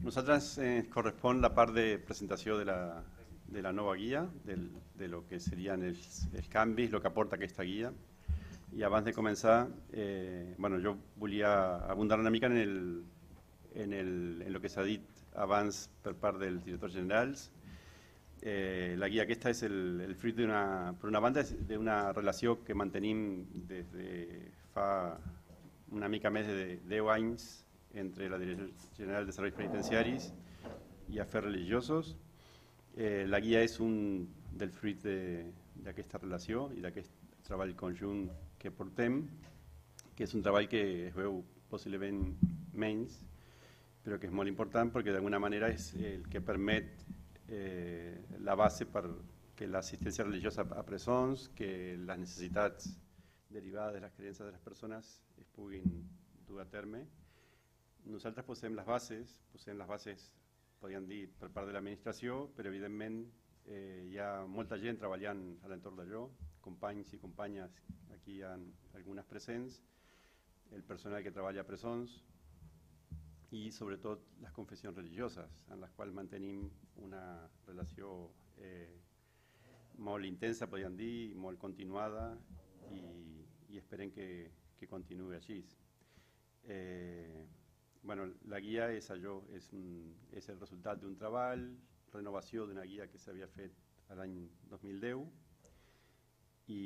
Nosaltres correspon la part de presentació de la nova guia, de lo que serien els canvis, el que aporta aquesta guia. I abans de començar, jo volia abundar una mica en lo que s'ha dit abans per part dels directors generals. La guia aquesta és el fruit per una banda, d'una relació que mantenim des de fa una mica més de 10 anys entre la Direcció General de Serveis Penitenciaris i Afers Religiosos. La guia és un del fruit d'aquesta relació i d'aquest treball conjunt que portem, que és un treball que es veu possiblement menys, però que és molt important perquè d'alguna manera és el que permet la base per que l'assistència religiosa a presons, que les necessitats derivades de les creences de les persones es puguin dur a terme. Nosaltres posem les bases, podríem dir, per part de l'administració, però evidentment hi ha molta gent treballant a l'entorn d'allò, companys i companyes, aquí hi ha algunes presents, el personal que treballa a presons i sobretot les confessions religioses, en les quals mantenim una relació molt intensa, podríem dir, molt continuada i esperem que continuï així. La guia és allò, és el resultat d'un treball, renovació d'una guia que s'havia fet l'any 2010 i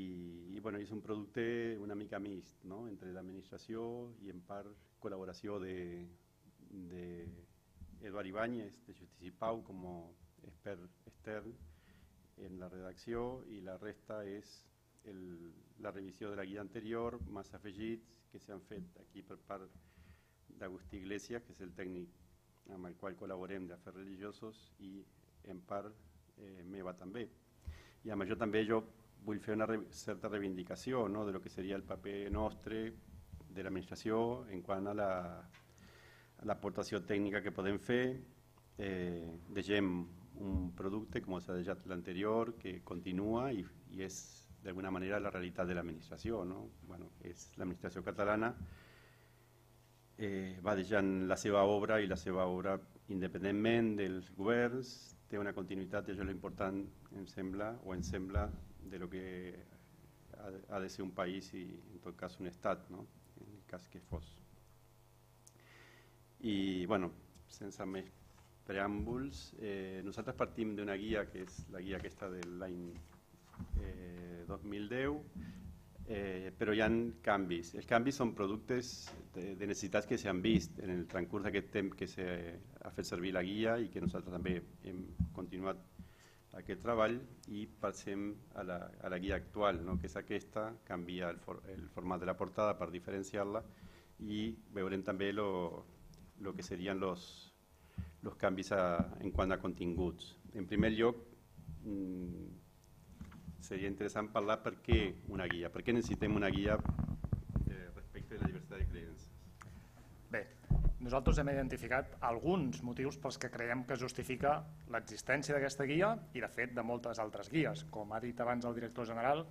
és un producte una mica mixt, no? Entre l'administració i en part col·laboració d'Eduard Ibáñez de Justícia i Pau com a expert extern en la redacció i la resta és la revisió de la guia anterior, més afegits que s'han fet aquí per part d'Agustí Iglesias, que és el tècnic amb el qual col·laborem d'Afers Religiosos i en part meva també. I amb això també jo vull fer una certa reivindicació de lo que seria el paper nostre de l'administració en quant a l'aportació tècnica que podem fer. Deixem un producte, com s'ha deixat l'anterior, que continua i és d'alguna manera la realitat de l'administració. És l'administració catalana va deixant la seva obra i la seva obra independentment dels governs, té una continuïtat i això és l'important, ens sembla, de lo que ha de ser un país i en tot cas un estat, en el cas que fos. I, sense més preàmbuls, nosaltres partim d'una guia que és la guia aquesta de l'any 2010, però hi ha canvis. Els canvis són productes de necessitats que s'han vist en el transcurs d'aquest temps que s'ha fet servir la guia i que nosaltres també hem continuat aquest treball i passem a la guia actual, que és aquesta, canvia el format de la portada per diferenciar-la i veurem també el que serien els canvis en quant a continguts. En primer lloc, seria interessant parlar per què una guia, per què necessitem una guia respecte a la diversitat de creences. Bé, nosaltres hem identificat alguns motius pels que creiem que justifica l'existència d'aquesta guia i de fet de moltes altres guies. Com ha dit abans el director general,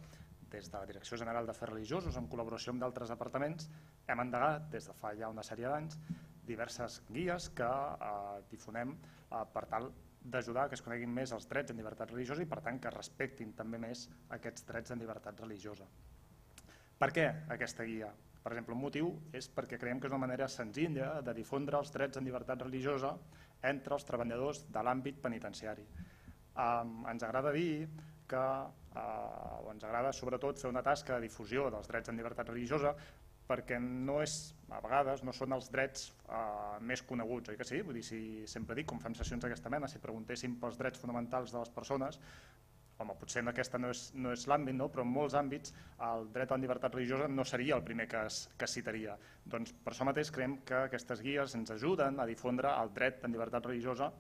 des de la Direcció General d'Afers Religiosos, en col·laboració amb d'altres departaments, hem endegat des de fa ja una sèrie d'anys diverses guies que difonem per tal d'ajudar que es coneguin més els drets en llibertat religiosa i per tant que es respectin també més aquests drets en llibertat religiosa. Per què aquesta guia? Per exemple, un motiu és perquè creiem que és una manera senzilla de difondre els drets en llibertat religiosa entre els treballadors de l'àmbit penitenciari. Ens agrada dir que, o ens agrada sobretot fer una tasca de difusió dels drets en llibertat religiosa perquè a vegades no són els drets més coneguts, oi que sí? Vull dir, si sempre dic, com fem sessions d'aquesta mena, si preguntéssim pels drets fonamentals de les persones, home, potser en aquesta no és l'àmbit, però en molts àmbits el dret a la llibertat religiosa no seria el primer que es citaria. Doncs per això mateix creiem que aquestes guies ens ajuden a difondre el dret a llibertat religiosa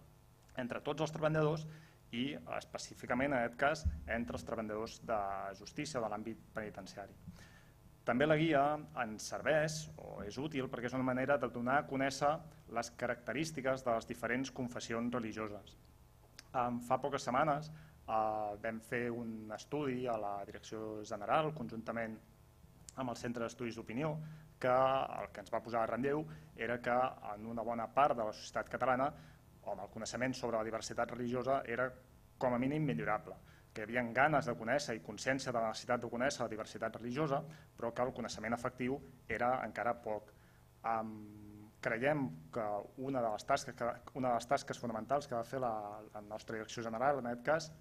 entre tots els treballadors i específicament, en aquest cas, entre els treballadors de justícia o de l'àmbit penitenciari. També la guia ens serveix o és útil perquè és una manera de donar a conèixer les característiques de les diferents confessions religioses. Fa poques setmanes vam fer un estudi a la Direcció General, conjuntament amb el Centre d'Estudis d'Opinió, que el que ens va posar a relleu era que en una bona part de la societat catalana o amb el coneixement sobre la diversitat religiosa era com a mínim millorable, que hi havia ganes de conèixer i consciència de la necessitat de conèixer la diversitat religiosa, però que el coneixement efectiu era encara poc. Creiem que una de les tasques fonamentals que ha de fer la nostra direcció general, en aquest cas,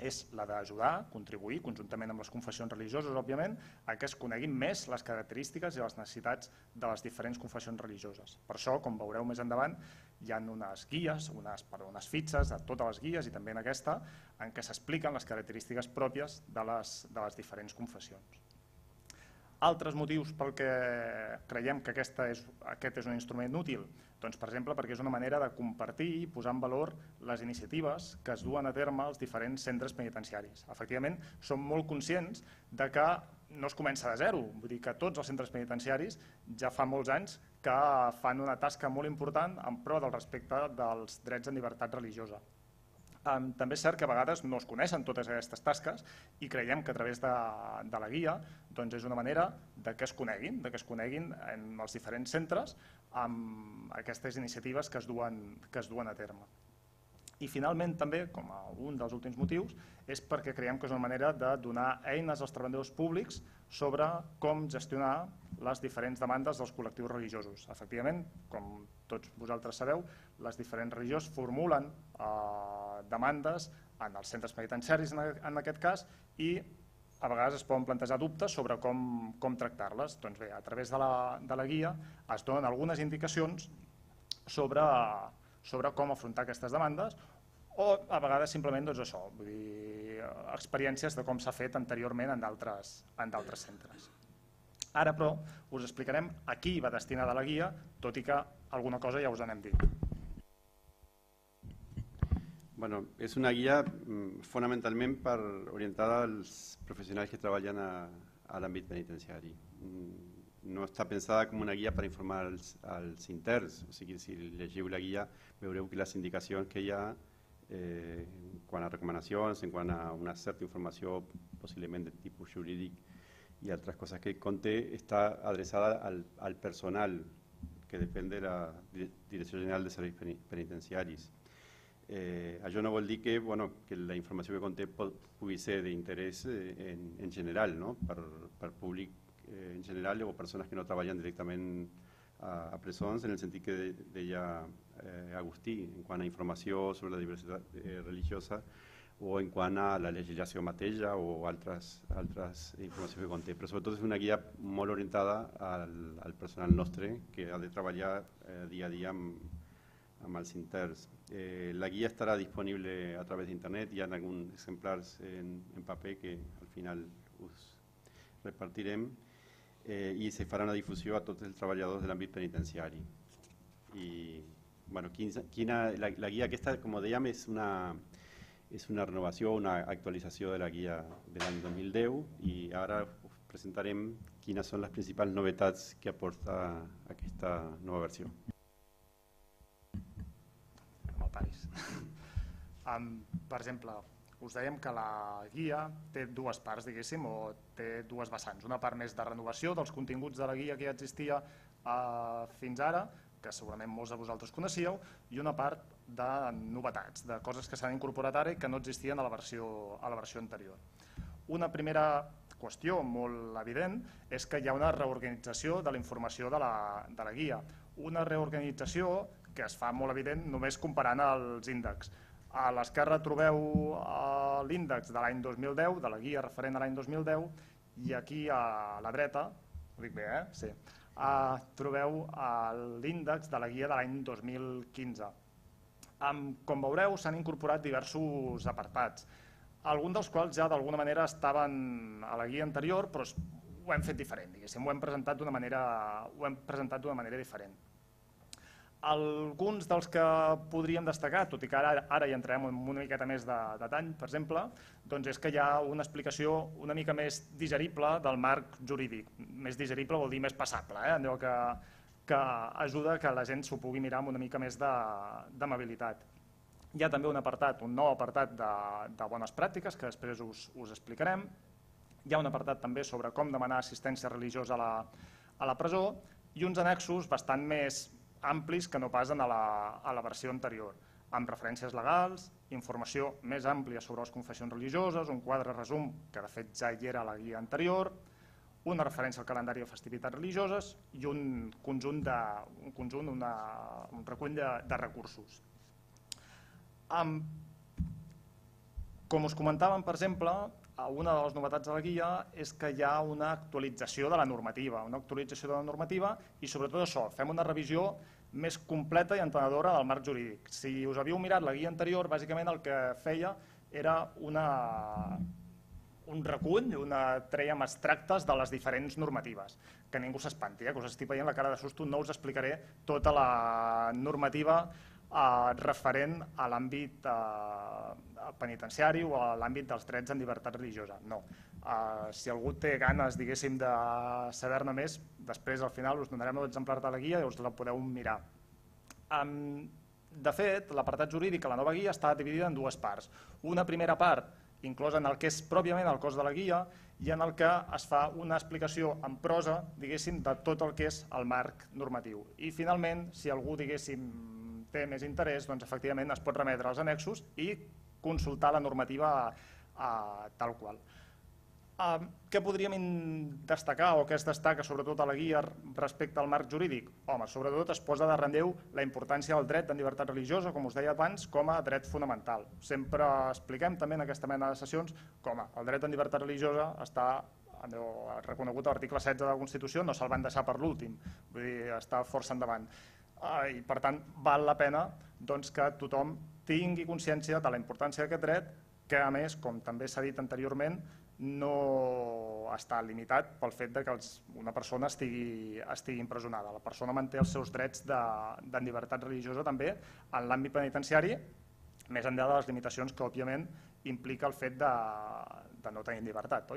és la d'ajudar, contribuir, conjuntament amb les confessions religioses, òbviament, a que es coneguin més les característiques i les necessitats de les diferents confessions religioses. Per això, com veureu més endavant, hi ha unes guies, unes fitxes de totes les guies i també en aquesta, en què s'expliquen les característiques pròpies de les diferents confessions. Altres motius pel que creiem que aquest és un instrument útil? Doncs, per exemple, perquè és una manera de compartir i posar en valor les iniciatives que es duen a terme als diferents centres penitenciaris. Efectivament, som molt conscients de que no es comença de zero, vull dir que tots els centres penitenciaris ja fa molts anys que fan una tasca molt important en pro del respecte dels drets en llibertat religiosa. També és cert que a vegades no es coneixen totes aquestes tasques i creiem que a través de la guia és una manera que es coneguin en els diferents centres amb aquestes iniciatives que es duen a terme. I finalment també, com a un dels últims motius, és perquè creiem que és una manera de donar eines als treballadors públics sobre com gestionar les diferents demandes dels col·lectius religiosos. Efectivament, com tots vosaltres sabeu, les diferents religions formulen demandes en els centres penitenciaris en aquest cas i a vegades es poden plantejar dubtes sobre com tractar-les. Doncs bé, a través de la guia es donen algunes indicacions sobre com afrontar aquestes demandes o a vegades simplement experiències de com s'ha fet anteriorment en d'altres centres. Ara, però, us explicarem a qui va destinada la guia, tot i que alguna cosa ja us n'hem dit. Bueno, és una guia fonamentalment orientada als professionals que treballen a l'àmbit penitenciari. No està pensada com una guia per informar als interns, o sigui, si llegiu la guia veureu que les indicacions que hi ha quant a recomanacions, quant a una certa informació possiblement de tipus jurídic i altres coses que conté, està adreçada al personal que depèn de la Direcció General de Serveis Penitenciaris. Això no vol dir que la informació que conté pugui ser d'interès en general, per públic en general o persones que no treballen directament a presons, en el sentit que deia Agustí, en quant a informació sobre la diversitat religiosa o en quant a la legislació mateixa o altres informacions que conté. Però sobretot és una guia molt orientada al personal nostre que ha de treballar dia a dia amb els interns. La guia estarà disponible a través d'internet, hi ha alguns exemplars en paper que al final us repartirem i se farà una difusió a tots els treballadors de l'àmbit penitenciari. La guia aquesta, com dèiem, és una renovació, una actualització de la guia de l'any 2010 i ara us presentarem quines són les principals novetats que aporta aquesta nova versió. Per exemple, us dèiem que la guia té dues parts, diguéssim, o té dues vessants. Una part més de renovació dels continguts de la guia que ja existia fins ara, que segurament molts de vosaltres coneixíeu, i una part de novetats, de coses que s'han incorporat ara i que no existien a la versió anterior. Una primera qüestió molt evident és que hi ha una reorganització de la informació de la guia. Una reorganització que es fa molt evident només comparant els índexs. A l'esquerra trobeu l'índex de l'any 2010, de la guia referent a l'any 2010, i aquí a la dreta, ho dic bé, sí, trobeu l'índex de la guia de l'any 2015. Com veureu, s'han incorporat diversos apartats, alguns dels quals ja d'alguna manera estaven a la guia anterior, però ho hem fet diferent, diguéssim, ho hem presentat d'una manera diferent. Alguns dels que podríem destacar, tot i que ara hi entrarem en una miqueta més de detall, per exemple, és que hi ha una explicació una mica més digerible del marc jurídic. Més digerible vol dir més passable, allò que ajuda que la gent s'ho pugui mirar amb una mica més d'amabilitat. Hi ha també un nou apartat de bones pràctiques que després us explicarem. Hi ha un apartat també sobre com demanar assistència religiosa a la presó i uns annexos bastant més amplis que no pas a la versió anterior. amb referències legals, informació més àmplia sobre les confessions religioses, un quadre resum, que de fet ja hi era a la guia anterior, una referència al calendari de festivitats religioses i un recull de recursos. Com us comentàvem, per exemple, una de les novetats de la guia és que hi ha una actualització de la normativa, i sobretot això, fem una revisió més completa i entenedora del marc jurídic. Si us havíeu mirat la guia anterior, bàsicament el que feia era un recull, trèiem extractes de les diferents normatives. Que ningú s'espanti, que us estic veient la cara de susto, no us explicaré tota la normativa referent a l'àmbit penitenciari o a l'àmbit dels drets en llibertat religiosa. No. Si algú té ganes, diguéssim, de saber-ne més, després al final us donarem l'exemplar de la guia i us la podeu mirar. De fet, l'apartat jurídic a la nova guia està dividida en dues parts. Una primera part inclosa en el que és pròpiament el cos de la guia i en el que es fa una explicació en prosa, diguéssim, de tot el que és el marc normatiu. I finalment, si algú, diguéssim, té més interès, doncs efectivament es pot remetre als annexos i consultar la normativa tal qual. Què podríem destacar o què es destaca sobretot a la guia respecte al marc jurídic? Home, sobretot es posa de relleu la importància del dret en llibertat religiosa, com us deia abans, com a dret fonamental. Sempre expliquem també en aquesta mena de sessions com el dret en llibertat religiosa està reconegut a l'article 16 de la Constitució, no se'l van deixar per l'últim, vull dir, està força endavant. I per tant val la pena que tothom tingui consciència de la importància d'aquest dret, que a més, com també s'ha dit anteriorment, no està limitat pel fet que una persona estigui empresonada. La persona manté els seus drets de llibertat religiosa també en l'àmbit penitenciari, més enllà de les limitacions que òbviament implica el fet de no tenir llibertat.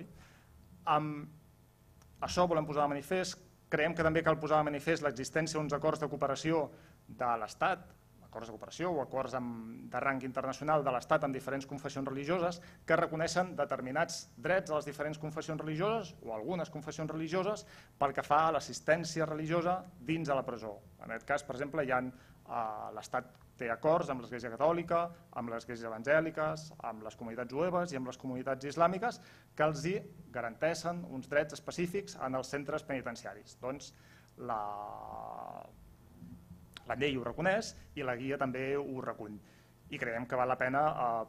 Això volem posar de manifest. Creiem que també cal posar de manifest l'existència d'uns acords de cooperació de l'Estat, acords de cooperació o acords de rang internacional de l'Estat amb diferents confessions religioses que reconeixen determinats drets a les diferents confessions religioses o algunes confessions religioses pel que fa a l'assistència religiosa dins de la presó. En aquest cas, per exemple, l'Estat té acords amb l'Església Catòlica, amb les esglésies evangèliques, amb les comunitats jueves i amb les comunitats islàmiques que els garanteixen uns drets específics en els centres penitenciaris. Doncs la llei ho reconeix i la guia també ho recull. I creiem que val la pena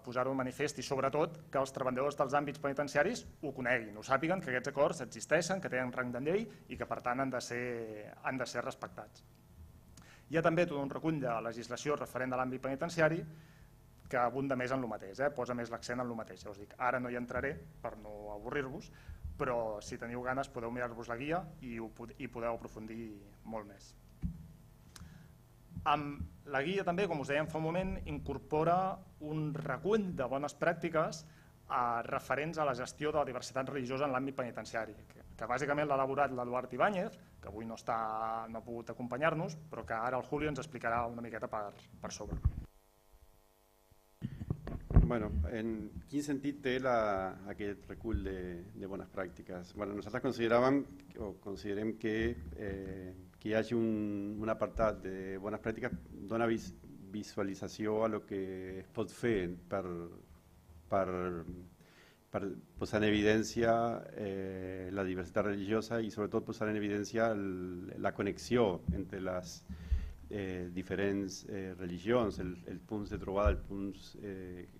posar-ho en manifest i sobretot que els treballadors dels àmbits penitenciaris ho coneguin, ho sàpiguen, que aquests acords existeixen, que tenen rang de llei i que per tant han de ser respectats. Hi ha també tot un recull de legislació referent a l'àmbit penitenciari que abunda més en el mateix, posa més l'accent en el mateix. Ja us dic, ara no hi entraré per no avorrir-vos, però si teniu ganes podeu mirar-vos la guia i podeu aprofundir molt més. La guia també, com us dèiem fa un moment, incorpora un recull de bones pràctiques referents a la gestió de la diversitat religiosa en l'àmbit penitenciari, que bàsicament l'ha elaborat l'Eduard Ibáñez, que avui no ha pogut acompanyar-nos, però que ara el Julio ens explicarà una miqueta per sobre. Bueno, en quin sentit té aquest recull de bones pràctiques? Bueno, nosaltres considerem que hi hagi un apartat de bones pràctiques dona visualització a lo que es pot fer per posar en evidència la diversitat religiosa i sobretot posar en evidència la connexió entre les diferents religions, els punts de trobada, els punts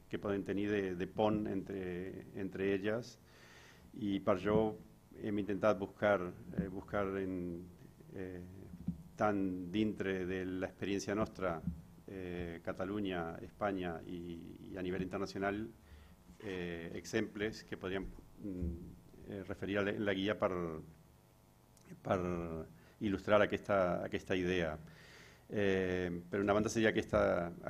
que poden tenir de pont entre elles, i per això hem intentat buscar tant dintre de l'experiència nostra, Catalunya, Espanya i a nivell internacional, exemples que podríem referir a la guia per il·lustrar aquesta idea. Per una banda seria aquesta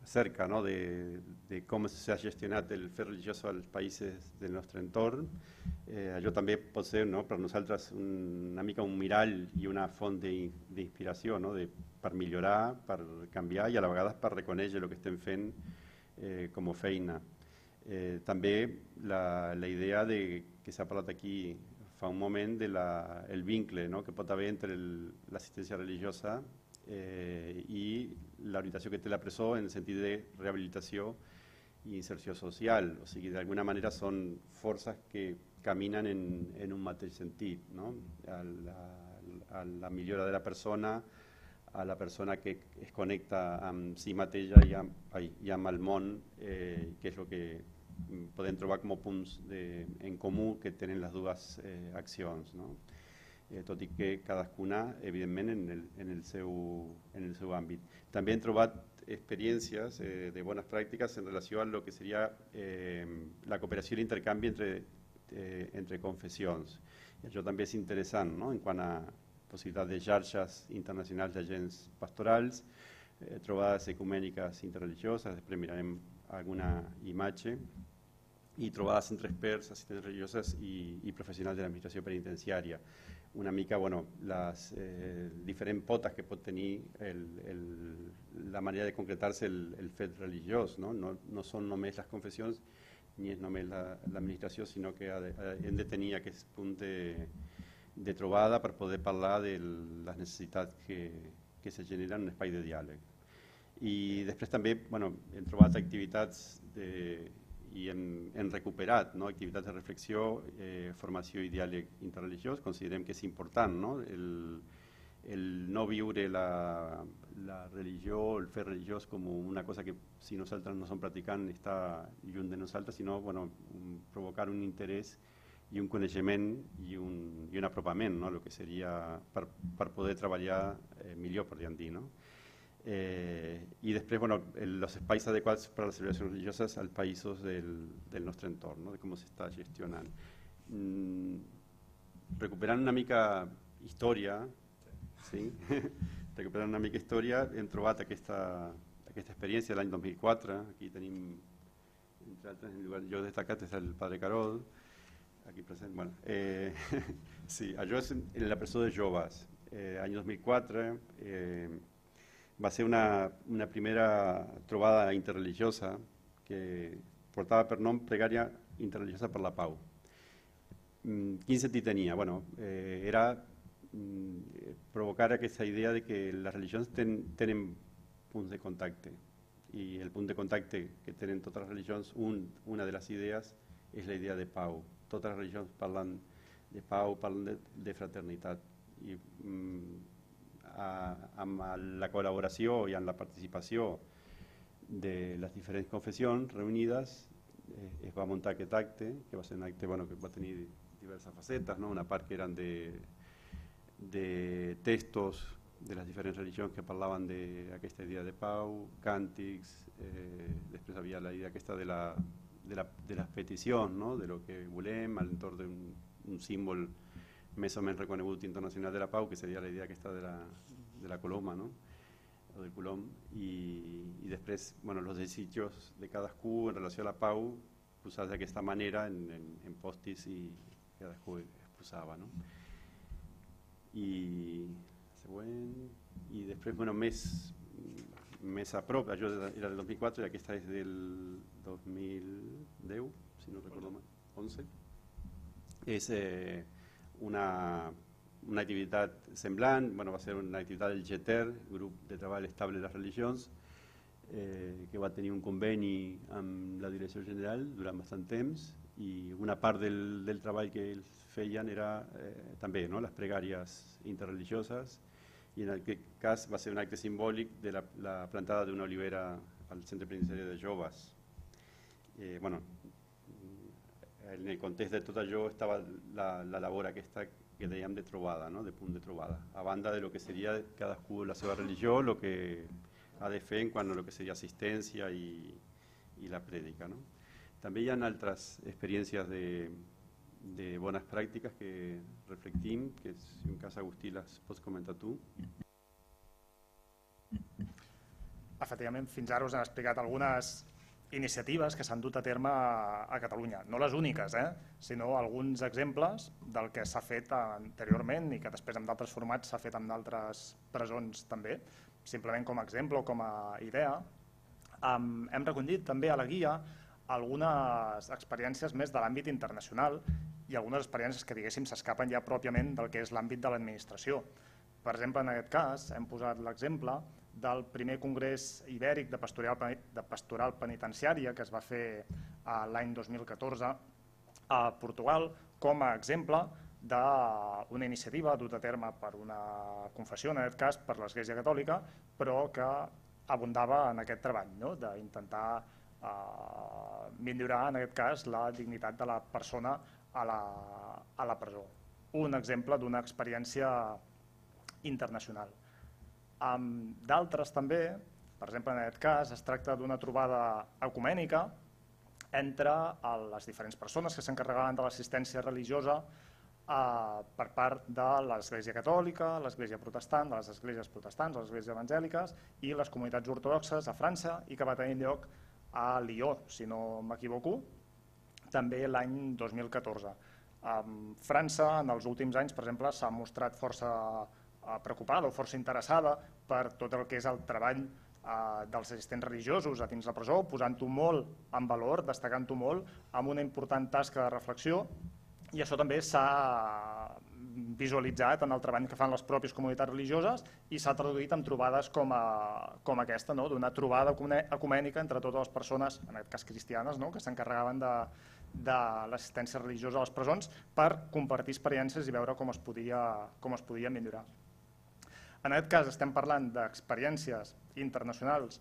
cerca, no, de com s'ha gestionat el fet religiós als països del nostre entorn. Allò també pot ser, no, per nosaltres una mica un mirall i una font d'inspiració, no, per millorar, per canviar i a la vegada per reconèixer el que estem fent com a feina. També la idea que s'ha parlat aquí fa un moment del vincle, no, que pot haver entre l'assistència religiosa i l'orientació que té la presó en el sentit de rehabilitació i inserció social. O sigui, d'alguna manera són forces que caminen en un mateix sentit, no? A la millora de la persona, a la persona que es connecta amb si mateixa i amb el món, que és el que podem trobar com a punts en comú que tenen les dues accions, no? Tot i que cadascuna, evidentment, en el seu àmbit. També hem trobat experiències de bones pràctiques en relació a lo que seria la cooperació i l'intercanvi entre confessions. I això també és interessant, no? En quant a possibilitat de xarxes internacionals d'agents pastorals, trobades ecumèniques interreligioses, després mirarem alguna imatge, i trobades entre experts, assistents religioses i professionals de l'administració penitenciària. Una mica, les diferents potes que pot tenir la manera de concretar-se el fet religiós, no? No són només les confessions ni és només l'administració, sinó que hem de tenir aquest punt de trobada per poder parlar de les necessitats que se generen en un espai de diàleg. I després també hem trobat activitats i hem recuperat activitats de reflexió, formació i diàleg interreligiós. Considerem que és important, no? El no viure la religió, el fe religiós com una cosa que si nosaltres no som practicants està lluny de nosaltres, sinó provocar un interès i un coneixement i un apropament, no? El que seria per poder treballar millor, podríem dir, no? I després, els espais adequats per a les celebracions religioses als països del nostre entorn, no? De com s'està gestionant. Recuperant una mica història, sí? Recuperant una mica història, hem trobat aquesta experiència de l'any 2004. Aquí tenim, entre altres, en el lloc destacat és el Padre Carol, aquí present. Sí, això és en la presó de joves. Any 2004, va ser una primera trobada interreligiosa que portava per nom Pregària Interreligiosa per la Pau. Quin sentit tenia? Era provocar aquesta idea de que les religions tenen punts de contacte, i el punt de contacte que tenen totes les religions, una de les idees és la idea de pau. Totes les religions parlen de pau, parlen de fraternitat, i amb la col·laboració i amb la participació de les diferents confessions reunides es va muntar aquest acte, que va ser un acte que va tenir diverses facetes, no? Una part que eren de textos de les diferents religions que parlaven d'aquesta idea de pau, càntics, després havia la idea aquesta de les peticions, no? De lo que volem, a l'entorn d'un símbol més o menys reconegut internacional de la pau, que seria la idea aquesta de la coloma, no? O del colom, i després els desitjos de cadascú en relació a la pau posats d'aquesta manera en postis, i cadascú exposava, no? I següent, i després més a prop, això era del 2004 i aquesta és del 2010, si no recordo mal, 11. És una activitat semblant, va ser una activitat del GETER, Grup de Treball Estable de les Religions, que va tenir un conveni amb la Direcció General durant bastant temps, i una part del treball que ells feien era també les pregàries interreligioses, i en aquest cas va ser un acte simbòlic de la plantada d'una olivera al Centre Penitenciari de Joves. En el context de tot això estava la labor aquesta que dèiem de trobada, no? De punt de trobada, a banda de lo que seria cadascú la seva religió, el que ha de fer en quant a lo que seria assistència i la prèdica, no? També hi ha altres experiències de bones pràctiques que reflectim, que si en cas Agustí les pots comentar tu. Efectivament, fins ara us han explicat algunes iniciatives que s'han dut a terme a Catalunya. No les úniques, sinó alguns exemples del que s'ha fet anteriorment i que després en d'altres formats s'ha fet en d'altres presons també. Simplement com a exemple o com a idea, hem recollit també a la guia algunes experiències més de l'àmbit internacional i algunes experiències que, diguéssim, s'escapen ja pròpiament del que és l'àmbit de l'administració. Per exemple, en aquest cas hem posat l'exemple del primer congrés ibèric de pastoral penitenciària que es va fer l'any 2014 a Portugal com a exemple d'una iniciativa duta a terme per una confessió, en aquest cas per l'Església Catòlica, però que abundava en aquest treball, d'intentar millorar en aquest cas la dignitat de la persona a la presó. Un exemple d'una experiència internacional. D'altres també, per exemple en aquest cas, es tracta d'una trobada ecumènica entre les diferents persones que s'encarregaven de l'assistència religiosa per part de l'Església Catòlica, l'Església Protestant, de les esglésies protestants, les esglésies evangèliques i les comunitats ortodoxes a França i que va tenir lloc a Lió, si no m'equivoco, també l'any 2014. França en els últims anys, per exemple, s'ha mostrat força preocupada o força interessada per tot el que és el treball dels assistents religiosos a dins la presó, posant-ho molt en valor, destacant-ho molt, amb una important tasca de reflexió, i això també s'ha visualitzat en el treball que fan les pròpies comunitats religioses i s'ha traduït en trobades com aquesta, d'una trobada ecumènica entre totes les persones, en aquest cas cristianes, que s'encarregaven de l'assistència religiosa a les presons per compartir experiències i veure com es podia millorar. En aquest cas estem parlant d'experiències internacionals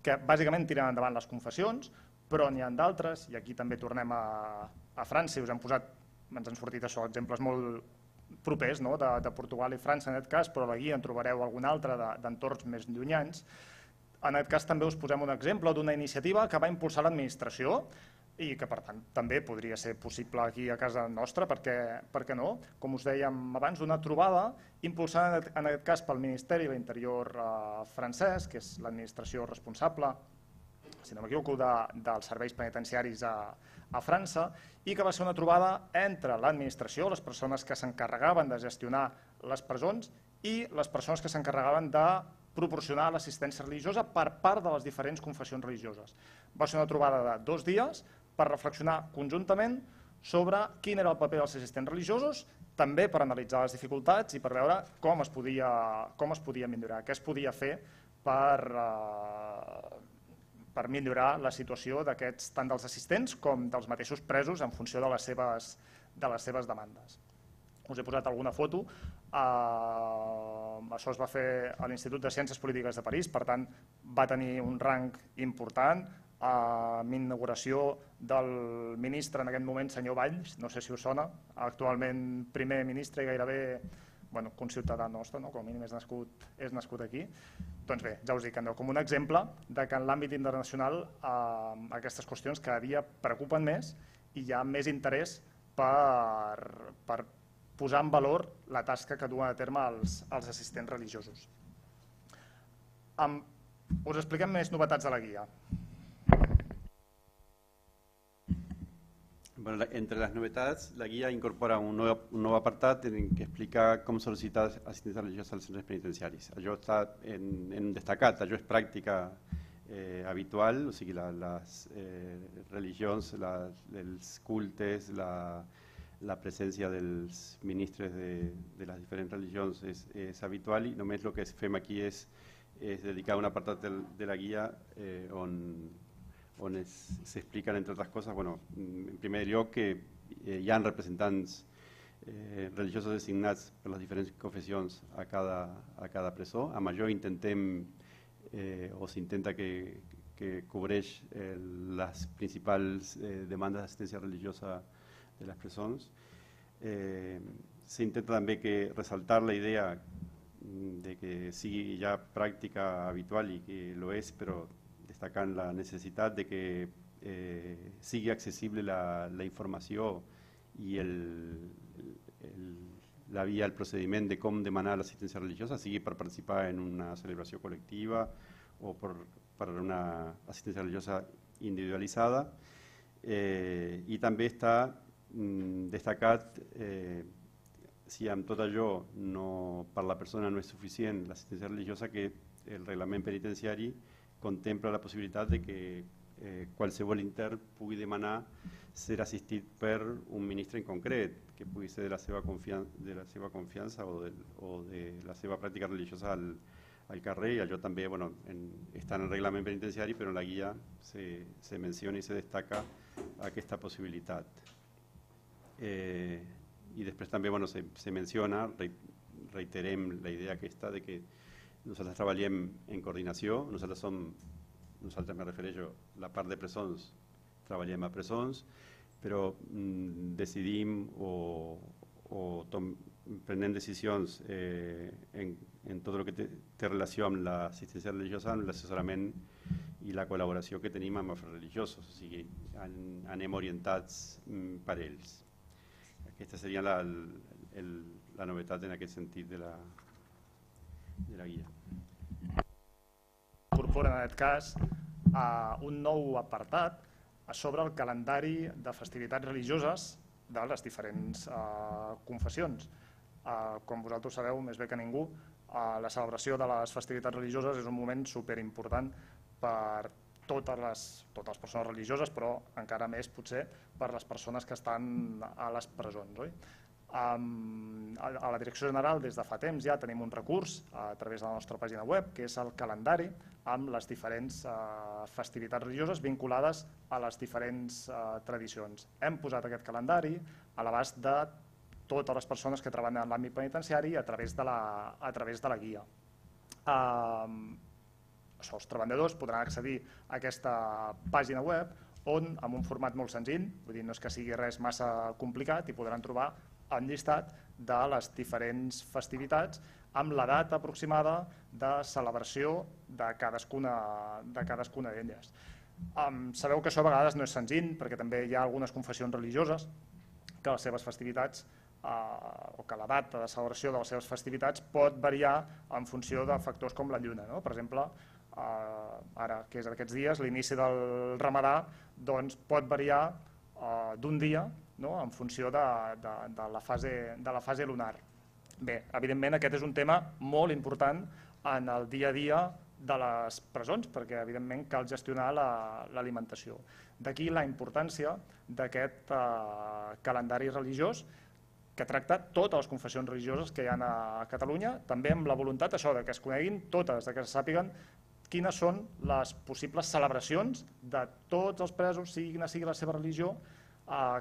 que bàsicament tiren endavant les confessions, però n'hi ha d'altres, i aquí també tornem a França, i ens han sortit això, exemples molt propers de Portugal i França en aquest cas, però a la guia en trobareu algun altre d'entorns més llunyans. En aquest cas també us posem un exemple d'una iniciativa que va impulsar l'administració i que per tant també podria ser possible aquí a casa nostra, per què no? Com us dèiem abans, una trobada impulsada en aquest cas pel Ministeri de l'Interior francès, que és l'administració responsable, si no m'equivoco, dels serveis penitenciaris a França, i que va ser una trobada entre l'administració, les persones que s'encarregaven de gestionar les presons i les persones que s'encarregaven de proporcionar l'assistència religiosa per part de les diferents confessions religioses. Va ser una trobada de 2 dies per reflexionar conjuntament sobre quin era el paper dels assistents religiosos, també per analitzar les dificultats i per veure com es podia millorar, què es podia fer per millorar la situació tant dels assistents com dels mateixos presos en funció de les seves demandes. Us he posat alguna foto. Això es va fer a l'Institut de Ciències Polítiques de París, per tant va tenir un rang important, amb inauguració del ministre en aquest moment, senyor Valls, no sé si us sona, actualment primer ministre i gairebé conciutadà nostre, com a mínim és nascut aquí. Doncs bé, ja us dic, com un exemple que en l'àmbit internacional aquestes qüestions cada dia preocupen més i hi ha més interès per posar en valor la tasca que duen a terme els assistents religiosos. Us expliquem més novetats de la guia. Bueno, entre las novedades, la guía incorpora un nuevo apartado en que explica cómo solicitar asistencia religiosa a los centros penitenciaris. Allò està en destacat, allò és pràctica habitual, o sigui, les religions, els cultes, la presència dels ministres de les diferents religions és habitual i només el que fem aquí és dedicar un apartat de la guia on s'expliquen, entre altres coses, en primer lloc que hi ha representants religiosos designats per les diferents confessions a cada presó. Amb això intentem o s'intenta que cobreix les principals demandes d'assistència religiosa de les presons. S'intenta també ressaltar la idea de que sigui ja pràctica habitual i que lo és, però destacant la necessitat de que sigui accessible la informació i la via, el procediment de com demanar l'assistència religiosa, sigui per participar en una celebració col·lectiva o per una assistència religiosa individualitzada. I també està destacat si amb tot allò per la persona no és suficient l'assistència religiosa, que el reglament penitenciari contempla la possibilitat de que qualsevol intern pugui demanar ser assistit per un ministre en concret, que pugui ser de la seva confiança o de la seva pràctica religiosa al carrer, i allò també està en el reglament penitenciari, però en la guia se menciona i se destaca aquesta possibilitat. I després també se menciona, reiterem la idea aquesta de que nosaltres treballem en coordinació, nosaltres me refereixo a la part de presons, treballem a presons, però decidim o prenem decisions en tot el que té relació amb l'assistència religiosa, amb l'assessorament i la col·laboració que tenim amb els religiosos, o sigui, anem orientats per ells. Aquesta seria la novetat en aquest sentit de la guia. Incorpora en aquest cas un nou apartat sobre el calendari de festivitats religioses de les diferents confessions. Com vosaltres sabeu més bé que ningú, la celebració de les festivitats religioses és un moment superimportant per totes les persones religioses, però encara més potser per les persones que estan a les presons. A la Direcció General des de fa temps ja tenim un recurs a través de la nostra pàgina web, que és el calendari amb les diferents festivitats religioses vinculades a les diferents tradicions. Hem posat aquest calendari a l'abast de totes les persones que treballen en l'àmbit penitenciari a través de la guia. Els treballadors podran accedir a aquesta pàgina web on, amb un format molt senzill, vull dir, no és que sigui res massa complicat, hi podran trobar el llistat de les diferents festivitats amb la data aproximada de celebració de cadascuna d'elles. Sabeu que això a vegades no és senzill, perquè també hi ha algunes confessions religioses que les seves festivitats o que la data de celebració de les seves festivitats pot variar en funció de factors com la lluna. Per exemple, ara, que és aquests dies, l'inici del Ramadà, doncs pot variar d'un dia en funció de la fase lunar. Bé, evidentment aquest és un tema molt important en el dia a dia de les presons, perquè evidentment cal gestionar l'alimentació. D'aquí la importància d'aquest calendari religiós que tracta totes les confessions religioses que hi ha a Catalunya, també amb la voluntat que es coneguin totes, que se sàpiguen quines són les possibles celebracions de tots els presos, sigui quina sigui la seva religió,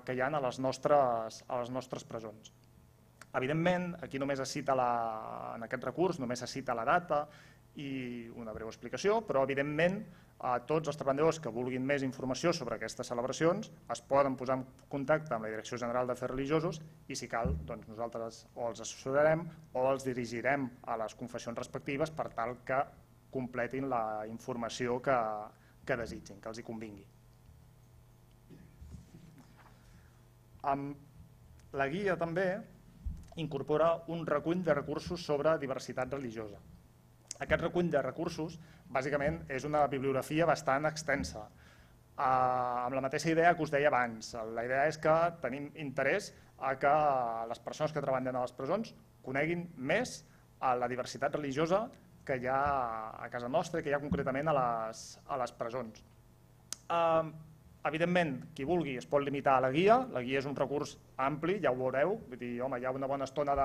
que hi ha a les nostres presons. Evidentment, aquí només es cita, en aquest recurs, només es cita la data i una breu explicació, però evidentment tots els treballadors que vulguin més informació sobre aquestes celebracions es poden posar en contacte amb la Direcció General d'Afers Religiosos i, si cal, nosaltres o els assessorarem o els dirigirem a les confessions respectives per tal que completin la informació que desitgin, que els hi convingui. La guia també incorpora un recull de recursos sobre diversitat religiosa. Aquest recull de recursos, bàsicament, és una bibliografia bastant extensa, amb la mateixa idea que us deia abans. La idea és que tenim interès a que les persones que treballen a les presons coneguin més la diversitat religiosa que hi ha a casa nostra i que hi ha concretament a les presons. Evidentment, qui vulgui es pot limitar a la guia és un recurs ampli, ja ho veureu, vull dir, home, hi ha una bona estona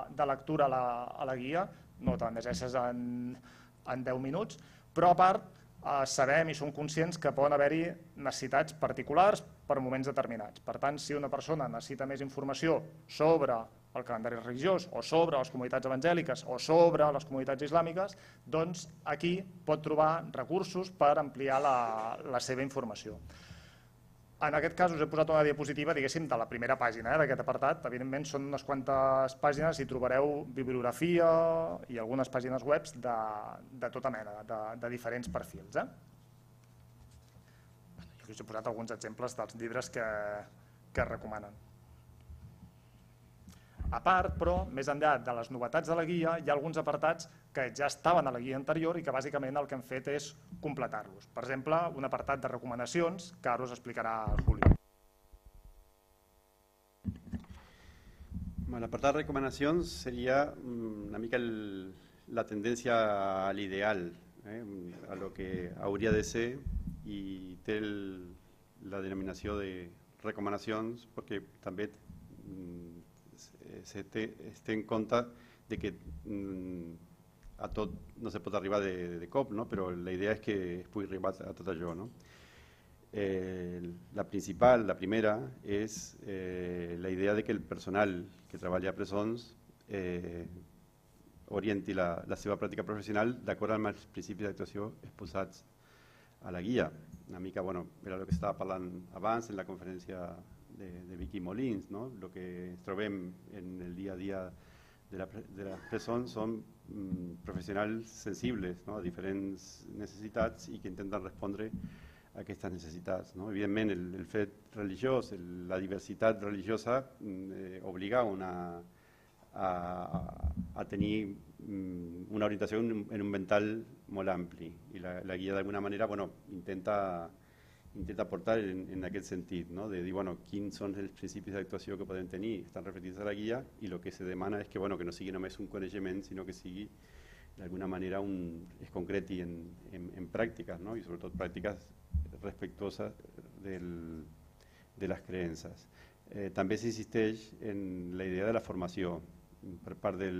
de lectura a la guia, no te'n llegeixes en 10 minuts, però a part sabem i som conscients que poden haver-hi necessitats particulars per moments determinats. Per tant, si una persona necessita més informació sobre el calendari religiós o sobre les comunitats evangèliques o sobre les comunitats islàmiques, doncs aquí pot trobar recursos per ampliar la seva informació. En aquest cas us he posat una diapositiva, diguéssim, de la primera pàgina d'aquest apartat. Evidentment són unes quantes pàgines i trobareu bibliografia i algunes pàgines web de tota mena, de diferents perfils. Jo us he posat alguns exemples dels llibres que es recomanen. A part, però, més enllà de les novetats de la guia, hi ha alguns apartats que ja estaven a la guia anterior i que bàsicament el que hem fet és completar-los. Per exemple, un apartat de recomanacions que ara us explicarà Julio. L'apartat de recomanacions seria una mica la tendència a l'ideal, a lo que hauria de ser i té la denominació de recomanacions perquè també es té en compte de que a tot no se pot arribar de cop, no? Però la idea és que es pugui arribar a tot allò, no? La primera, és la idea de que el personal que treballa a presons orienti la seva pràctica professional d'acord amb els principis d'actuació exposats a la guia. Una mica, bueno, era el que estava parlant abans en la conferència de Vicky Molins, no? El que trobem en el dia a dia de les presons són professionals sensibles, no? A diferents necessitats i que intenten respondre a aquestes necessitats, no? Evidentment, el fet religiós, la diversitat religiosa obliga a tenir una orientació en un ventall molt ampli i la guia d'alguna manera, bueno, intenta aportar en aquest sentit, no? De dir, bueno, quins són els principis d'actuació que podem tenir, estan reflectits a la guia i el que se demana és que, bueno, que no sigui només un coneixement, sinó que sigui d'alguna manera es concreti en pràctiques, no? I sobretot pràctiques respectuoses de les creences. També s'insisteix en la idea de la formació per part de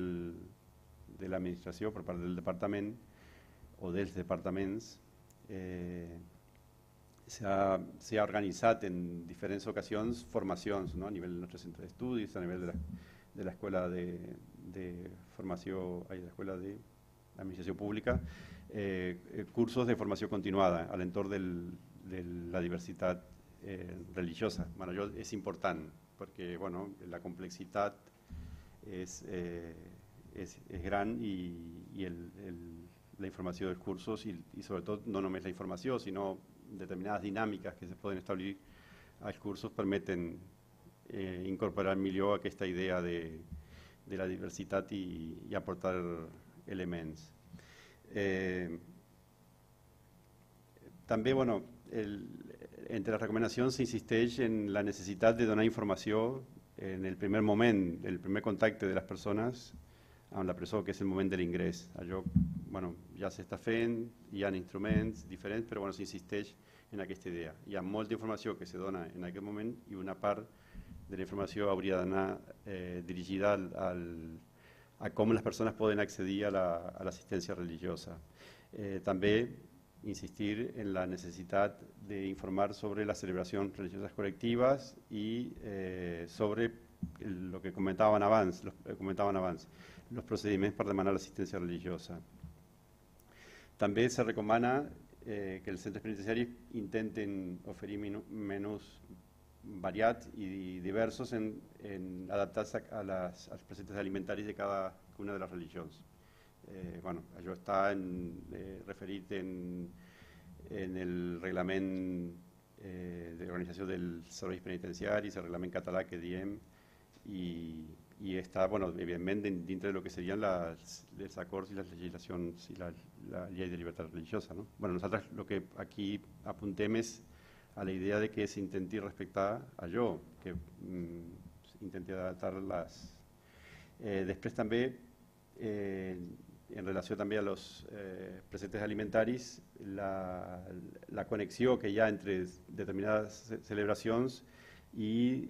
l'administració, per part del departament o dels departaments. S'ha organitzat en diferents ocasions formacions, no? A nivell del nostre centre d'estudis, a nivell de l'escola de formació, a l'escola d'administració pública, cursos de formació continuada a l'entorn de la diversitat religiosa. Bueno, això és important perquè, bueno, la complexitat és gran i la informació dels cursos i sobretot no només la informació, sinó determinades dinàmiques que se poden establir als cursos permeten incorporar millor aquesta idea de la diversitat i aportar elements. També, bueno, entre les recomanacions s'insisteix en la necessitat de donar informació en el primer moment, el primer contacte de les persones amb la presó, que és el moment de l'ingrés. Allò, bueno, ja s'està fent, hi ha instruments diferents, però bueno, s'insisteix en aquesta idea. Hi ha molta informació que se dona en aquest moment i una part de la informació hauria d'anar dirigida a com les persones poden accedir a l'assistència religiosa. També insistir en la necessitat d'informar sobre les celebracions religioses col·lectives i sobre el que comentaven abans, els procediments per demanar l'assistència religiosa. També se recomana que els centres penitenciaris intenten oferir menús variats i diversos adaptats als preceptes alimentaris de cada una de les religions. Bueno, això està referit en el reglament d'organització dels serveis penitenciaris, el reglament català que diem, i està, bueno, evidentment, dintre del que serien els acords i les legislacions i la llei de llibertat religiosa, no? Bueno, nosaltres el que aquí apuntem és a la idea de que s'intenti respectar allò, que s'intenti adaptar-les. Després també, en relació també a los preceptes alimentaris, la connexió que hi ha entre determinades celebracions i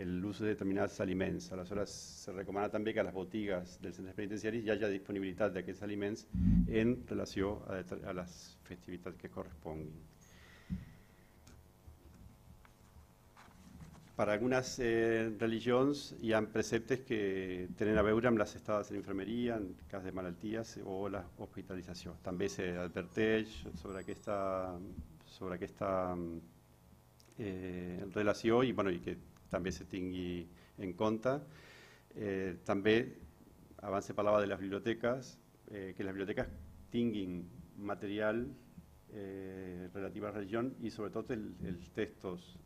l'ús de determinats aliments. Aleshores, se recomana també que a les botigues dels centres penitenciaris hi hagi disponibilitat d'aquests aliments en relació a les festivitats que corresponguin. Per a algunes religions hi ha preceptes que tenen a veure amb les estades en infermeria, en cas de malalties o l'hospitalització. També s'adverteix sobre aquesta relació i que també se tingui en compte. També, abans se parlava de les biblioteques, que les biblioteques tinguin material relatiu a la religió i sobretot els textos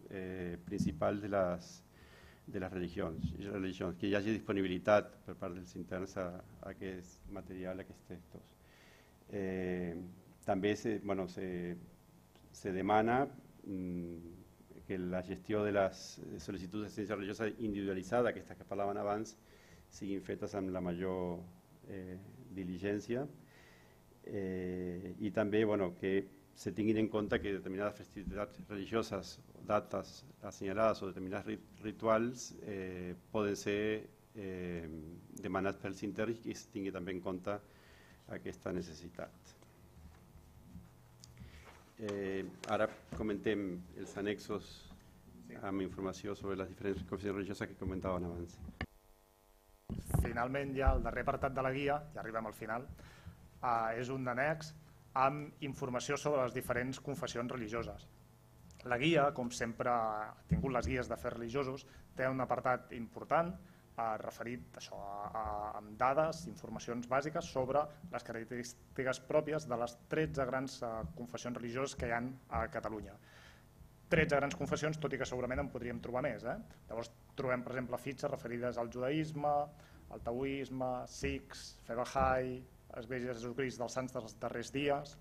principals de les religions, que hi hagi disponibilitat per part dels interns a aquest material, a aquests textos. També se demana que la gestió de les sol·licituds d'assistència religiosa individualitzada, aquestes que parlaven abans, siguin fetes amb la major diligència i també que se tinguin en compte que determinades festivitats religioses, dates assenyalades o determinats rituals poden ser demanats pels interns i es tingui també en compte aquesta necessitat. Ara comentem els annexos amb informació sobre les diferents confessions religioses que comentaven abans. Finalment, ja el darrer apartat de la guia, ja arribem al final, és un annex amb informació sobre les diferents confessions religioses. La guia, com sempre ha tingut les guies de fets religiosos, té un apartat important referit amb dades, informacions bàsiques sobre les característiques pròpies de les 13 grans confessions religioses que hi ha a Catalunya. 13 grans confessions, tot i que segurament en podríem trobar més. Llavors trobem, per exemple, fitxes referides al judaïsme, al taoisme, sikhs, fe Bahá'í, Església de Jesucrist dels Sants dels Darrers Dies,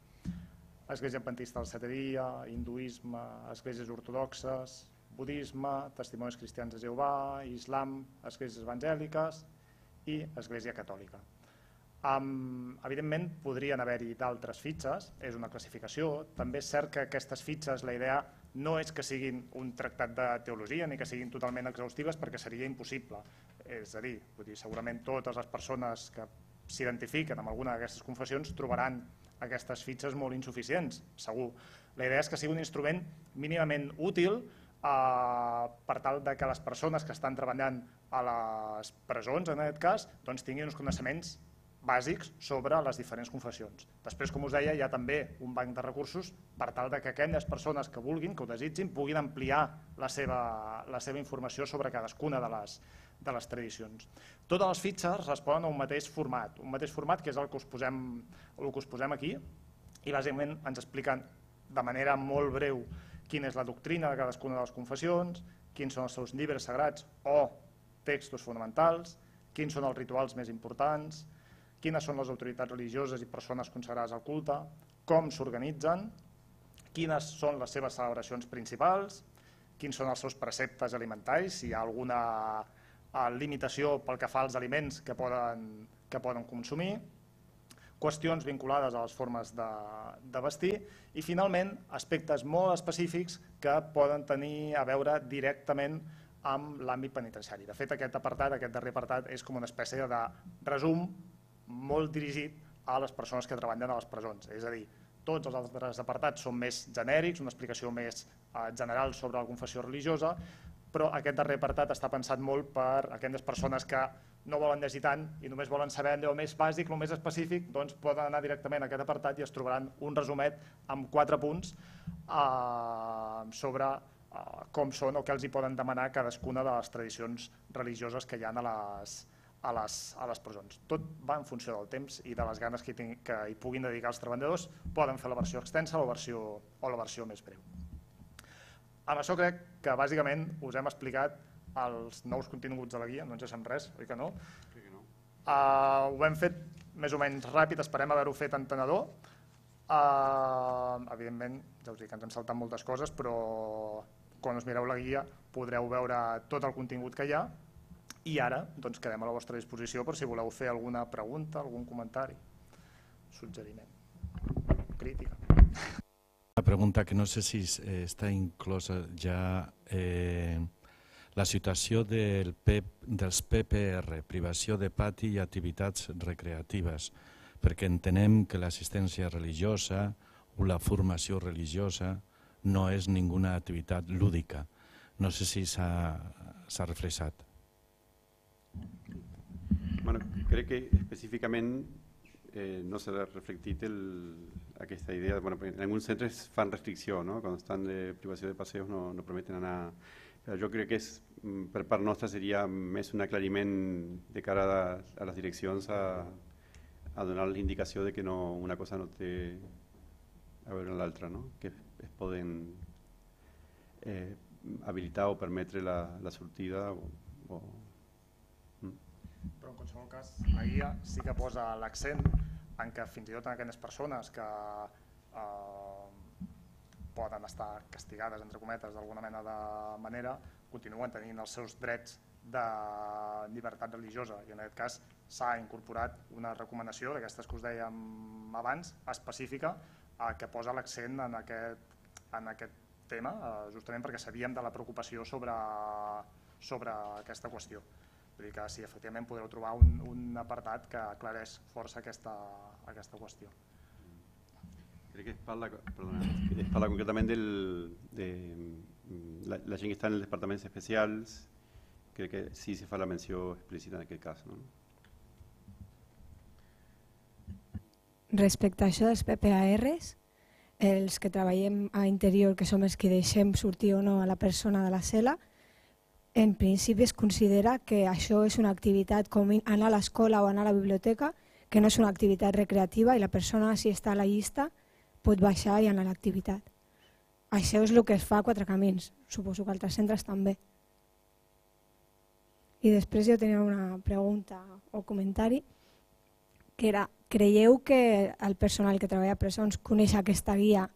Església Adventista del Setè Dia, hinduisme, esglésies ortodoxes, budisme, testimonis cristians de Jehovà, islam, esglésies evangèliques i església catòlica. Evidentment podrien haver-hi d'altres fitxes, és una classificació. També és cert que aquestes fitxes, la idea no és que siguin un tractat de teologia ni que siguin totalment exhaustives perquè seria impossible. És a dir, segurament totes les persones que s'identifiquen amb alguna d'aquestes confessions trobaran aquestes fitxes molt insuficients, segur. La idea és que sigui un instrument mínimament útil per tal que les persones que estan treballant a les presons, en aquest cas, tinguin uns coneixements bàsics sobre les diferents confessions. Després, com us deia, hi ha també un banc de recursos per tal que aquelles persones que vulguin, que ho desitgin, puguin ampliar la seva informació sobre cadascuna de les tradicions. Totes les fitxes responen a un mateix format que és el que us posem aquí, i bàsicament ens expliquen de manera molt breu quina és la doctrina de cadascuna de les confessions, quins són els seus llibres sagrats o textos fonamentals, quins són els rituals més importants, quines són les autoritats religioses i persones consagrades al culte, com s'organitzen, quines són les seves celebracions principals, quins són els seus preceptes alimentaris, si hi ha alguna limitació pel que fa als aliments que poden consumir, qüestions vinculades a les formes de vestir i, finalment, aspectes molt específics que poden tenir a veure directament amb l'àmbit penitenciari. De fet, aquest darrer apartat, és com una espècie de resum molt dirigit a les persones que treballen a les presons. És a dir, tots els altres apartats són més genèrics, una explicació més general sobre la confessió religiosa, però aquest darrer apartat està pensat molt per aquelles persones que no volen llegir tant i només volen saber allò més bàsic, el més específic, doncs poden anar directament a aquest apartat i es trobaran un resumet amb 4 punts sobre com són o què els hi poden demanar cadascuna de les tradicions religioses que hi ha a les presons. Tot va en funció del temps i de les ganes que hi puguin dedicar els treballadors. Poden fer la versió extensa o la versió més breu. Amb això crec que bàsicament us hem explicat els nous continguts de la guia, no ens deixem res, oi que no? Crec que no. Ho hem fet més o menys ràpid, esperem haver-ho fet entenedor. Evidentment, ja us dic que ens hem saltat moltes coses, però quan us mireu la guia podreu veure tot el contingut que hi ha i ara quedem a la vostra disposició per si voleu fer alguna pregunta, algun comentari, suggeriment, crítica. Una pregunta que no sé si està inclosa ja la situació dels PPR, privació de pati i activitats recreatives, perquè entenem que l'assistència religiosa o la formació religiosa no és ninguna activitat lúdica. No sé si s'ha reflexat. Bueno, crec que específicament no s'ha reflectit aquesta idea. Bueno, en alguns centres fan restricció, no? Quan estan de privació de passeos no permeten anar. Però jo crec que per part nostra seria més un aclariment de cara a les direccions a donar l'indicació de que una cosa no té a veure amb l'altra, no? Que es poden habilitar o permetre la sortida Però en qualsevol cas la guia sí que posa l'accent en que fins i tot en aquelles persones que poden estar castigades, entre cometes, d'alguna mena de manera, continuen tenint els seus drets de llibertat religiosa i en aquest cas s'ha incorporat una recomanació d'aquestes que us dèiem abans, específica que posa l'accent en aquest tema, justament perquè sabíem de la preocupació sobre aquesta qüestió. Vull dir que sí, efectivament podreu trobar un apartat que aclareix força aquesta qüestió. Crec que es parla concretament de la gent que està en els departaments especials. Crec que sí se fa la menció explícita en aquest cas. No? Respecte a això dels PPARs, els que treballem a interior, que som els que deixem sortir o no a la persona de la cel·la, en principi es considera que això és una activitat com anar a l'escola o anar a la biblioteca, que no és una activitat recreativa i la persona, si està a la llista, pot baixar i anar a l'activitat. Això és el que es fa a Quatre Camins, suposo que altres centres també. I després jo tenia una pregunta o comentari, que era, creieu que el personal que treballa a presons coneix aquesta guia?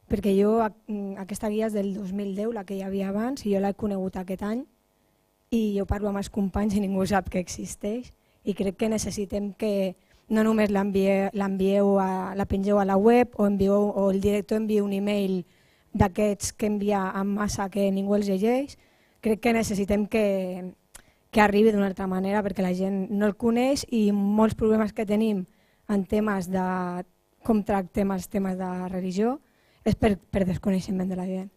Perquè jo, aquesta guia és del 2010, la que hi havia abans, i jo l'he conegut aquest any, i jo parlo amb els companys i ningú sap que existeix, i crec que necessitem que no només la pengeu a la web o el director envia un email d'aquests que envia en massa que ningú els llegeix, crec que necessitem que arribi d'una altra manera perquè la gent no el coneix i molts problemes que tenim en temes de com tractem els temes de religió és per desconeixement de la gent.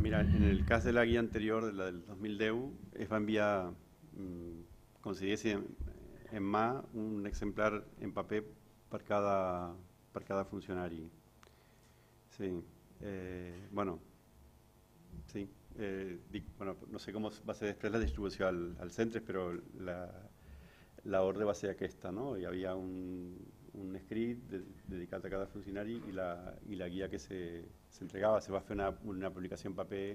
Mira, en el cas de la guia anterior, la del 2010, es va enviar, com si diguéssim, en mà un exemplar en paper per cada funcionari. Sí, bueno, sí. No sé com va ser després la distribució als centres, però la ordre va ser aquesta, no? Hi havia un escrit dedicat a cada funcionari i la guia que s'entregava. Se va fer una publicació en paper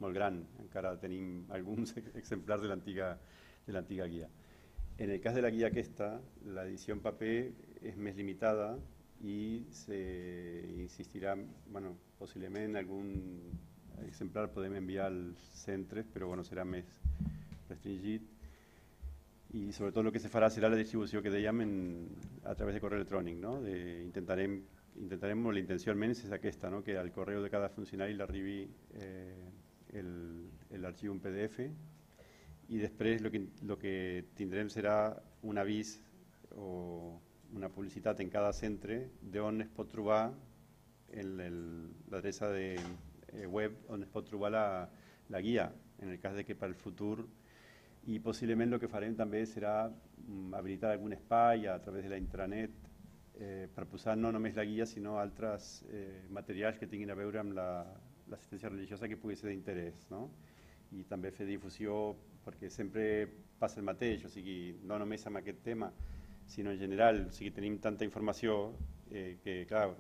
molt gran, encara tenim alguns exemplars de l'antiga guia. En el cas de la guia aquesta, l'edició en paper és més limitada i s'insistirà, bueno, possiblement algun exemplar podem enviar als centres, però bueno, serà més restringit. I sobretot el que se farà serà la distribució que dèiem a través de correu electrònic. No? Intentarem, la intenció almenys és aquesta, no? Que al correu de cada funcionari l'arribi l'arxiu en PDF i després el que tindrem serà un avís o una publicitat en cada centre d'on es pot trobar l'adreça de web on es pot trobar la guia, en el cas de que per al futur, i possiblement el que farem també serà habilitar algun espai a través de la intranet per posar no només la guia sinó altres materials que tinguin a veure amb l'assistència religiosa que pugui ser d'interès, no? I també fer difusió perquè sempre passa el mateix, o sigui, no només amb aquest tema, sinó en general, o sigui, tenim tanta informació que, clar,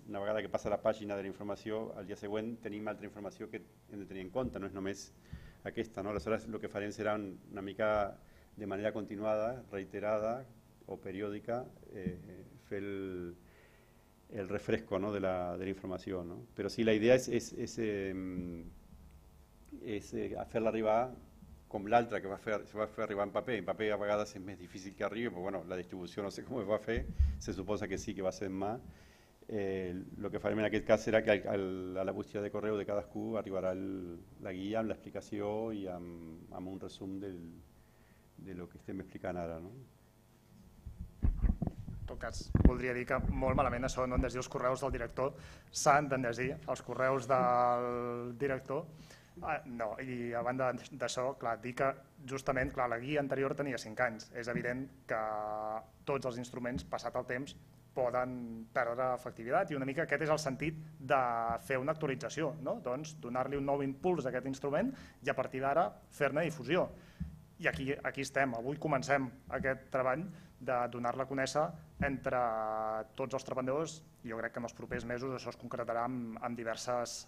una vegada que passa la pàgina de la informació, al dia següent tenim altra informació que hem de tenir en compte, no és només aquesta, no? Aleshores, el que farem serà una mica de manera continuada, reiterada o periòdica, fer el refresco, no? de la informació. No? Però sí, la idea és fer-la arribar com l'altra que se va fer arribar en paper. En paper a vegades és més difícil que arribi, però bueno, la distribució no sé com es va fer, se suposa que sí que va ser en mà. El que farem en aquest cas serà que a la bústia de correu de cadascú arribarà la guia amb l'explicació i amb un resum de lo que estem explicant ara. No? En tot cas, voldria dir que molt malament això no han de llegir els correus del director, s'han de llegir els correus del director. No, i a banda d'això, dir que justament la guia anterior tenia 5 anys. És evident que tots els instruments, passat el temps, poden perdre efectivitat i una mica aquest és el sentit de fer una actualització, no? Doncs donar-li un nou impuls a aquest instrument i a partir d'ara fer-ne difusió. I aquí estem, avui comencem aquest treball de donar-la a conèixer entre tots els treballadors i jo crec que en els propers mesos això es concretarà en diverses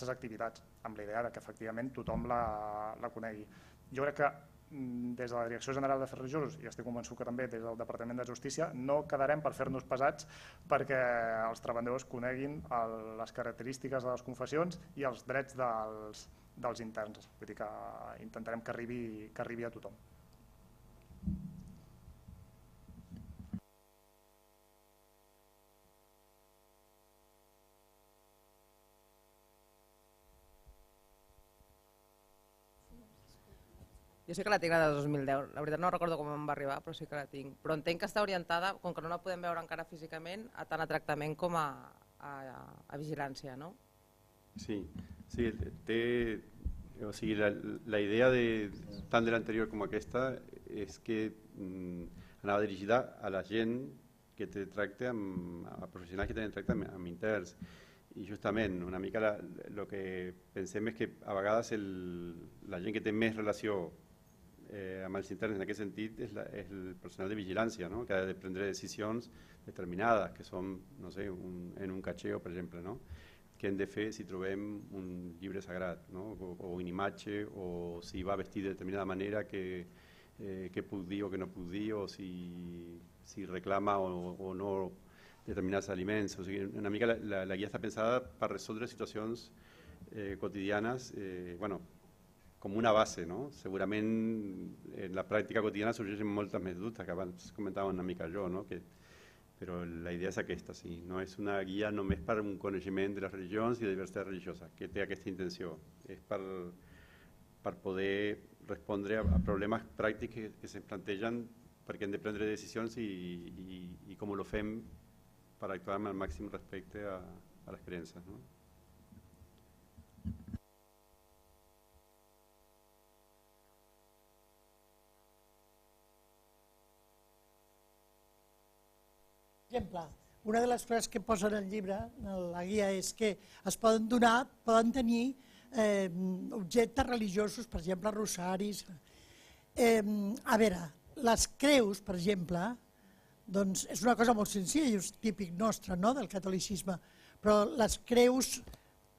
activitats, amb la idea que efectivament tothom la conegui. Jo crec que des de la Direcció General d'Afers Religiosos, i estic convençut que també des del Departament de Justícia, no quedarem per fer-nos pesats perquè els treballadors coneguin les característiques de les confessions i els drets dels interns. Vull dir que intentarem que arribi a tothom. Jo sí que la tinc la de 2010, la veritat no recordo com em va arribar, però sí que la tinc. Però entenc que està orientada, com que no la podem veure encara físicament, tant a tractament com a vigilància, no? Sí, o sigui, la idea tant de l'anterior com aquesta és que anava dirigida a la gent que té tracte a professionals que tenen tracte amb interns. I justament, una mica el que pensem és que a vegades la gent que té més relació amb els interns en aquest sentit és el personal de vigilància, no? Que ha de prendre decisions determinades, que són, no sé, en un catxeo, per exemple, no? Què hem de fer si trobem un llibre sagrat, no? O una imatge, o si va vestit de determinada manera, què puc dir o què no puc dir, o si reclama o no determinats aliments. O sigui, una mica la guia està pensada per resoldre situacions quotidianes, com una base, no? Segurament en la pràctica quotidiana sorgeixen moltes més dubtes, que abans comentava una mica jo, no? Però la idea és aquesta, sí. No és una guia només per un coneixement de les religions i de diversitat religiosa, que té aquesta intenció. És per poder respondre a problemes pràctics que se plantegen perquè hem de prendre decisions i com ho fem per actuar amb el màxim respecte a les creences, no? Per exemple, una de les coses que posa en el llibre, en la guia, és que es poden tenir objectes religiosos, per exemple, rosaris. A veure, les creus, per exemple, doncs és una cosa molt senzilla i és típic nostre, no?, del catolicisme, però les creus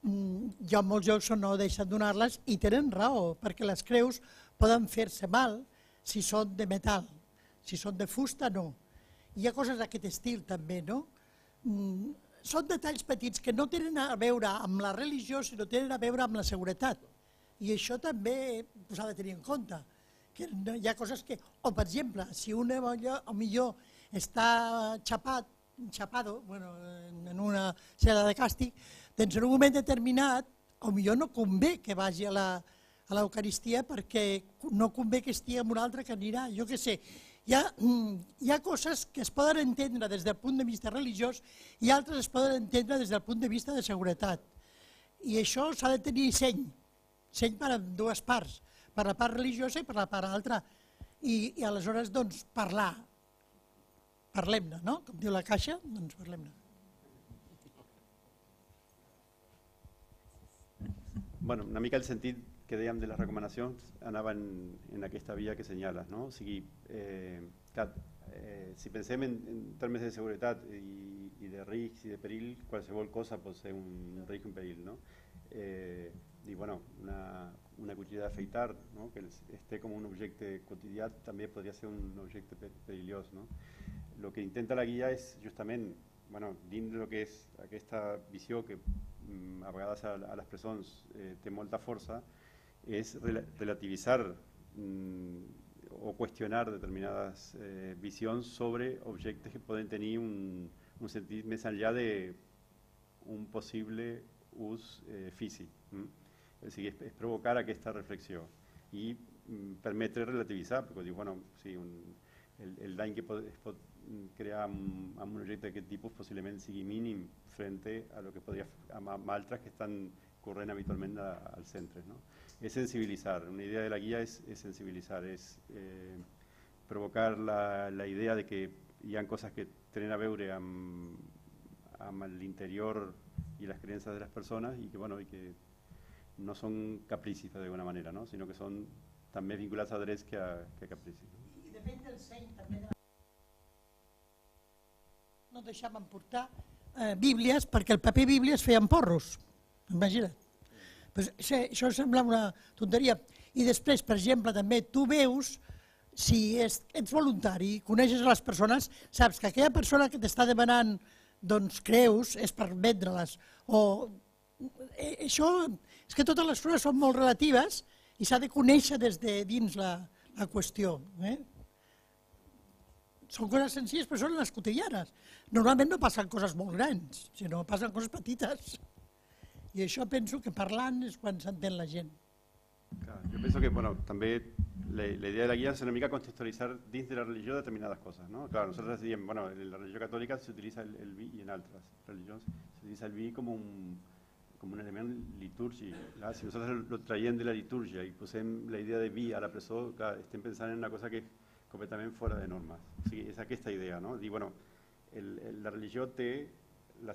hi ha molts llocs on no deixen donar-les i tenen raó, perquè les creus poden fer-se mal si són de metal, si són de fusta no. Hi ha coses d'aquest estil també, no? Són detalls petits que no tenen a veure amb la religió, sinó tenen a veure amb la seguretat. I això també s'ha de tenir en compte. Que hi ha coses que, o per exemple, si un millor està xapado en una cel·la de càstig, doncs en un moment determinat potser no convé que vagi a l'Eucaristia perquè no convé que estigui amb un altre que anirà, jo què sé. Hi ha coses que es poden entendre des del punt de vista religiós i altres es poden entendre des del punt de vista de seguretat. I això s'ha de tenir seny per a dues parts, per la part religiosa i per la part altra. I aleshores, doncs, parlem-ne, no? Com diu la Caixa, doncs parlem-ne. Bueno, una mica el sentit que dèiem de les recomanacions anava en aquesta via que senyales, no? O sigui, si pensem en termes de seguretat i de risc i de perill, qualsevol cosa pot ser un risc i un perill, no? I bueno, una cuchilla d'afeitar, no? Que esté com un objecte quotidià també podria ser un objecte perillós, no? Lo que intenta la guia és justament, dins del que és aquesta visió que a vegades a les presons té molta força, és relativitzar o qüestionar determinades visions sobre objectes que poden tenir un sentit més enllà d'un possible ús físic. O sigui, és provocar aquesta reflexió i permetre relativitzar, perquè diu, sí, el dany que es pot crear amb un objecte d'aquest tipus possiblement sigui mínim frente a lo que podria amb altres que estan corrent habitualment als centres, no? És sensibilitzar, una idea de la guia és sensibilitzar, és provocar la idea de que hi ha coses que tenen a veure amb l'interior i les creences de les persones i que no són capricis d'alguna manera, no? Sinó que són també vinculats a drets que a capricis. I depèn del seny també. No deixaven portar bíblies perquè el paper bíblia es feia amb porros, imagina't. Això sembla una tonteria. I després, per exemple, també tu veus, si ets voluntari, coneixes les persones, saps que aquella persona que t'està demanant creus és per vendre-les. Això és que totes les coses són molt relatives i s'ha de conèixer des de dins la qüestió. Són coses senzilles, però són les quotidianes. Normalment no passen coses molt grans, sinó passen coses petites. I això penso que parlant és quan s'entén la gent. Jo penso que també la idea de la guía es una mica contextualizar dins de la religió determinadas cosas, ¿no? Claro, nosotros decíamos, bueno, en la religión católica se utiliza el vi y en otras religiones se utiliza el vi como un elemento litúrgic. Clar, si nosotros lo traiem de la liturgia i posem la idea de vi a la presó, clar, estem pensant en una cosa que és completament fora de normes. O sigui, és aquesta idea, no? Dir, bueno, la religió té el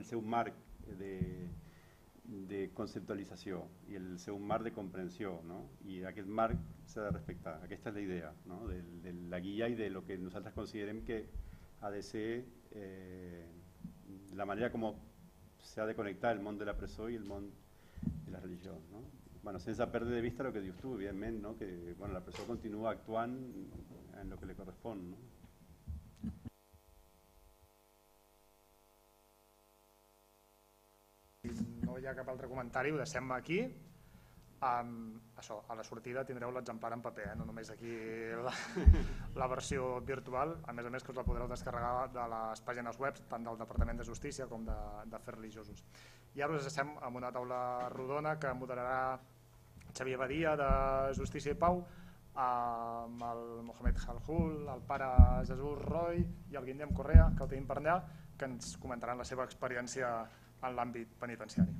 seu marc de conceptualització i el seu marc de comprensió, no? I aquest marc s'ha de respectar. Aquesta és la idea, no? De la guia i de lo que nosaltres considerem que ha de ser la manera com s'ha de connectar el món de la presó i el món de la religió, no? Bueno, sense perdre de vista el que dius tu, evidentment, no? Que bueno, la presó continua actuant en el que li correspon, no? No hi ha cap altre comentari, ho deixem aquí. Això, a la sortida tindreu l'exemplar en paper, no només aquí la versió virtual, a més que us la podreu descarregar de les pàgines web tant del Departament de Justícia com d'Afers Religiosos. I ara us deixem amb una taula rodona que moderarà Xavier Badia de Justícia i Pau, amb el Mohamed Halhul, el pare Jesús Roy i el Guillem Correa, que el tenim per allà, que ens comentaran la seva experiència en l'àmbit penitenciari.